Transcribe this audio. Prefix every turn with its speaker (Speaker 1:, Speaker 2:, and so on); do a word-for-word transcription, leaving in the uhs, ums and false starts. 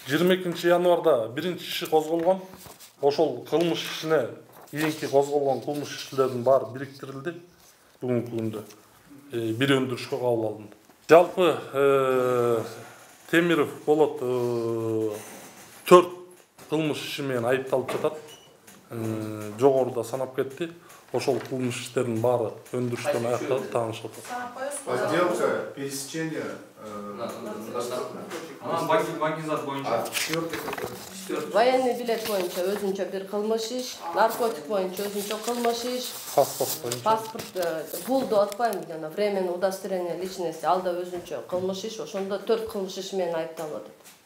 Speaker 1: жыйырма экинчи январда биринчи иши козголгон. Ошол кылмыш ишине кийинки козголгон кылмыш иштердин баары бириктирилди. Бүгүнкү күндө бир өндүрүшкө кабыл алынды. Жалпы Темиров Болот төрт кылмыш иши менен айыпталып жатат. Жогоруда санап кетти. Ошол кылмыш иштердин баары өндүрүштөн аякталып таанышып атат.
Speaker 2: Подделка, пересечение.
Speaker 3: Банкизат боюнча.
Speaker 4: Военный билет боюнча өзүнчө бир кылмыш иш, наркотик боюнча өзүнчө кылмыш иш,
Speaker 1: Паспорт боюнча.
Speaker 4: паспорт, бул деп атпайм, жана временный удостоверение личности, ал да өзүнчө кылмыш иш, ошондо төрт кылмыш иш менен айыпталып атат.